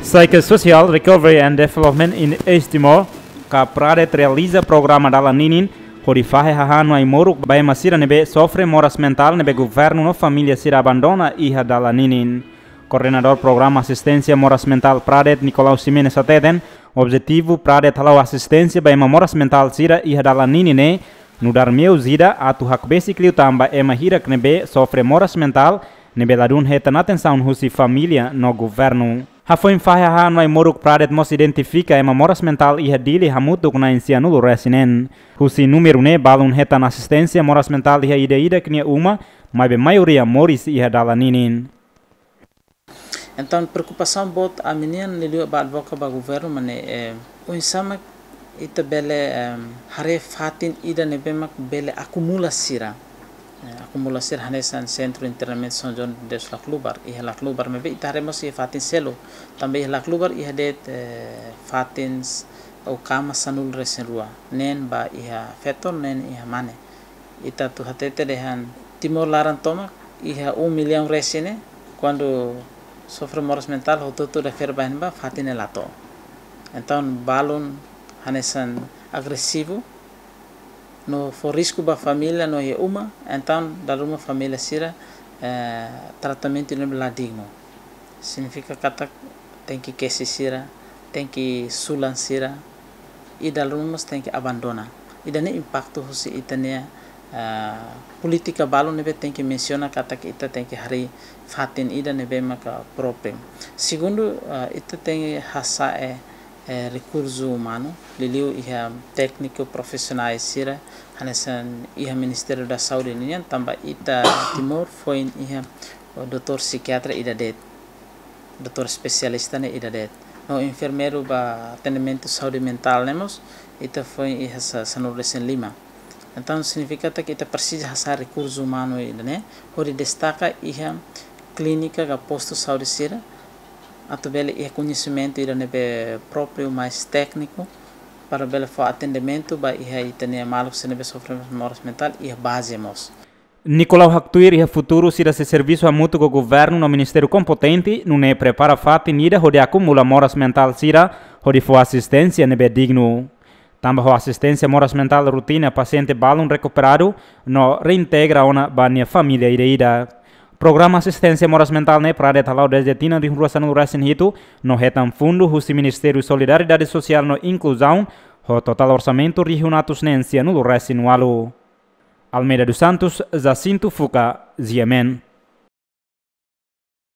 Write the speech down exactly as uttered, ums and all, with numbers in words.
Psychosocial Recovery and Development in East Timor, ka PRADET, realiza programa dala ninin hodi fahe hahán no ai-moruk ba ema sira ne'ebé sofre moras mentál ne'ebé governu no família sira abandona iha dala ninin. Koordenadór Programa Asisténsia Moras Mentál PRADET, Nicolau Ximenes, hateten objetivu PRADET hala'o asisténsia ba ema moras mentál sira iha dala ninin ne'e nu'udar meius ida atu hakbesik liután ba ema hirak ne'ebé sofre moras mentál ne'ebé ladún hetan atensaun husi família no governu. Hafoin fahe hahán no ai-moruk, PRADET mós identifika ema moras mentál iha Dili hamutuk na'in sianulu resin neen. Husi númeru ne'e balun hetan asisténsia moras mentál iha ida-idak nia uma, maibé maioria moris iha dala ninin. Entaun, preokupasaun boot ami-nian, liuliu ba advoka ba governu, mak ne'e, eh, oinsá mak ita bele, em, haree fatin ida ne'ebé mak bele akumula sira. Eh, akumula sira hanesan Sentru Internamentu São João de Deus Laclubar, iha Laclubar maibé ita haree mós iha fatin seluk. Tanba iha Laclubar iha de'it, eh, fatin s-, ou kama sanulu resin rua. Neen ba iha feto, neen iha mane. Ita atu hatete dehan Timor laran tomak iha um milhão resin ne'e, kuandu sofre moras mentál, hotu-hotu refere ba ne'ebá, fatin ne'e la to'o. Entaun, balun hanesan agresivu, no fó risku ba família no iha uma, entaun dala ruma família sira, eh, tratamentu ne'ebé la dignu. Signifika katak tenke kesi sira, tenke sulan sira, i dala ruma mós tenke abandona. Ida-ne'e impaktu husi ita-nia, ah, polítika balun ne'ebé tenke mensiona katak ita tenke harii fatin ida ne'ebé maka própriu. Segundu, ah, ita tenke hasa'e, eh, rekursu umanu, liuliu iha tékniku profisionál sira, hanesan iha Ministériu da Saúde nian, tanba ita Timor foin iha, oh, doutór psikiatra ida de'it, doutór espesialista ne'e ida de'it. No enfermeiru ba atendimentu saúde mentál ne'e mós, ita foin iha sa-, sanulu resin lima. Entaun, signifika katak ita presiza hasa'e rekursu umanu ida-ne'e, hodi destaka iha klínika ka postu saúde sira, atu bele iha koñesimentu ida ne'ebé própriu, mais tékniku, para bele fó atendimentu ba iha ita-nia maluk sira ne'ebé sofre moras mentál iha baze mós. Nicolau haktuir iha futuru sira sei servisu hamutuk ho governu no ministériu kompetente, nune'e prepara fatin ida hodi akumula moras mentál sira, hodi fó asisténsia ne'ebé dignu. Tanba ho asisténsia moras mentál rutina, pasiente balun rekuperadu no reintegra ona ba nia família ida-idak. Programa asisténsia moras mentál ne'e PRADET hala'o dezde tinan rihun rua sanulu resin hitu, no hetan fundu husi Ministériu Solidariedade Sosiál no Inkluzaun, ho totál orsamentu rihun atus neen sianulu resin walu. Almeida dos Santos, Jacinto Fuca, G M N.